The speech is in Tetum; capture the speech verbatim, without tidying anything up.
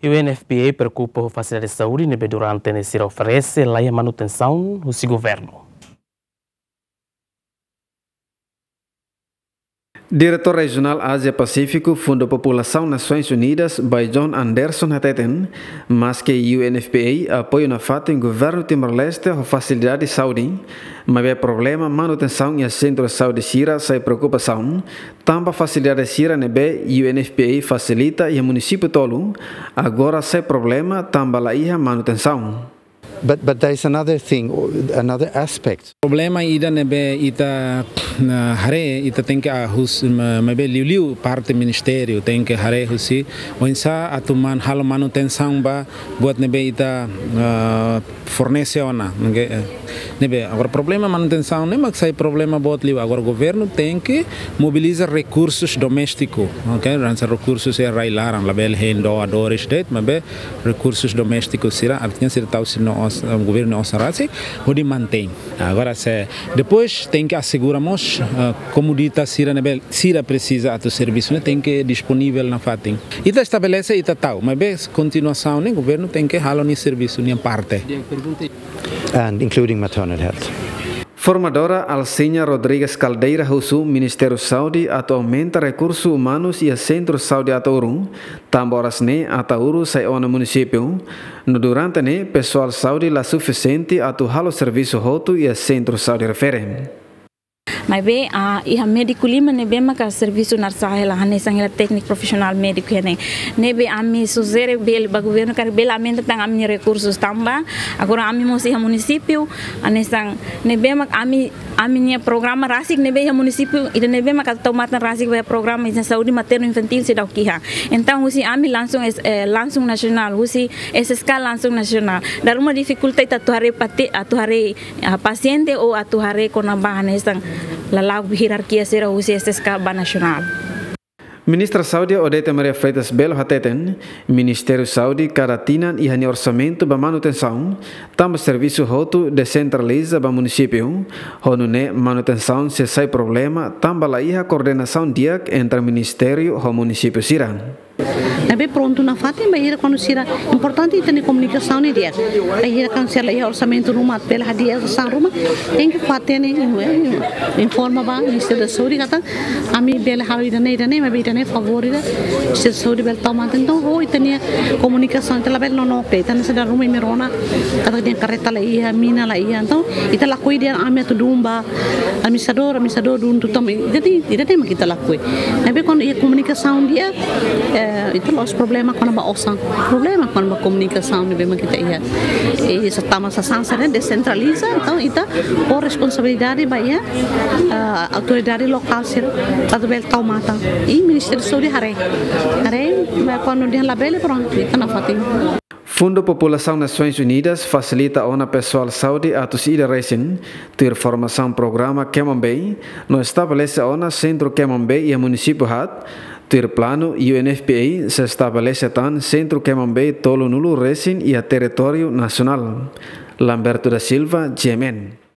U N F P A preokupa ho fasilidade saúde ne'ebé durante ne'e sira oferese la iha manutensaun husi governu. Diretór Rejionál Ázia Pasífiku Fundu Populasaun Nasoins Unidas, Baijon Anderson hateten, maske U N F P A apoiu nafatin governu Timor-Leste ho fasilidade saúde, maibé problema manutensaun iha sentru saúde sira sai preokupasaun, tanba fasilidade sira ne'ebé U N F P A fasilita iha munisípiu tolu, agora sai problema tanba la iha manutensaun. But, but there is another thing, another aspect. Problema ida ne'ebé ita, ah, haree, ita tenke hahú, ma-, maibé liuliu parte ministériu tenke haree husi oinsá atu man-, halo manutensaun ba buat ne'ebé ita, ah, fornese ona, oke, eh, ne'ebé. Agora problema manutensaun ne'e mak sai problema boot liu. Agora governu tenke mobiliza rekursus doméstiku, oke? Hanesan rekursus iha rai-laran, labele hein doadores de'it, maibé rekursus doméstiku sira, artinya sira tau sira-nia osan, governu nia osan rasik, hodi mantein. Agora se, depois tenke asegura mós, ah, komodidade sira ne'ebé sira presiza atu servisu ne'e tenke disponivel nafatin. Ita estabelese, ita tau, maibé kontinuasaun ne'e governu tenke halo nia servisu, nia parte. And including maternal health. Formadora Alciña Rodrigues Caldeira husu Ministériu Saúde atu aumenta rekursu umanus iha Sentru Saúde Ataúru, tanba oras ne'e Ataúru sai ona munisípiu, no durante ne'e pesoál saúde la sufisiente atu halo servisu hotu iha sentru saúde refere. Maibé, ah, iha médiku lima ne'ebé maka servisu naran sá hela, hanesan hela tékniku profisionál médiku iha ne'e. Ne'ebé ami sujere bele ba governu karik bele aumenta tan ami-nia rekursus tanba agora ami mós iha munisípiu, hanesan ne'ebé mak ami, ami-nia programa rasik ne'ebé iha munisípiu ida ne'ebé mak atu tau matan rasik ba programa iha saúde maternu infantíl seidauk iha. Entaun husi ami langsung es-, eh, langsung nasionál, husi S S K langsung nasionál. Dala ruma difikulta ita atu haree pati-, atu haree, ah, pasiente ou atu haree kona-ba hanesan lala'ok hierarkia sira husi S S K ba nasionál. Ministra Saúde Odete Maria Freitas Belo hateten, Ministériu Saúde kada tinan iha nia orsamentu ba manutensaun, tanba servisu hotu desentraliza ba munisípiu, ho nune'e manutensaun sei sai problema tanba la iha koordenasaun di'ak entre ministériu ho munisípiu sira. Ne'ebé prontu nafatin bainhira kuandu sira, importante ita-nia komunikasaun ne'e di'ak. Bainhira kuandu sira la iha orsamentu ruma, bele hadi'a osan ruma, tenke fatin ne'e, eh, informa ba Ministériu da Saúde katak ami bele halo ida-ne'e, ida-ne'e, maibé ida-ne'e favór ida Ministériu da Saúde bele tau matan. Entaun, ho ita-nia komunikasaun ita labele nonook de'it, ita hanesan dala ruma imi rona katak ita-nia karreta la iha, mina la iha. Entaun, ita lakohi dehan ami atu dun ba administradór, administradór dun tutan, ida-ne'e, ida-ne'e mak ita lakohi. Ne'ebé kuandu iha komunikasaun di'ak, eh, ita la'ós problema kona-ba osan. Problema kona-ba komunikasaun ne'ebé mak ita iha. Eh, sá tanba sasán sira desentraliza, entaun ita fó responsabilidade ba iha, eh, autoridade lokál sira atu bele tau matan. I Ministériu Saúde haree. Haree, maibé kuandu dehan labele, prontu, ita nafatin. Fundu Populasaun Nasoins Unidas fasilita ona pesoál saúde atus ida resin, tuir formasaun programa Kemon Bay, no estabelese ona sentru Kemon Bay iha munisípiu haat, tuir planu U N F P A sei estabelese tan sentru Kemon Bay tolunulu resin iha territóriu nasionál. Lamberto da Silva, G M N.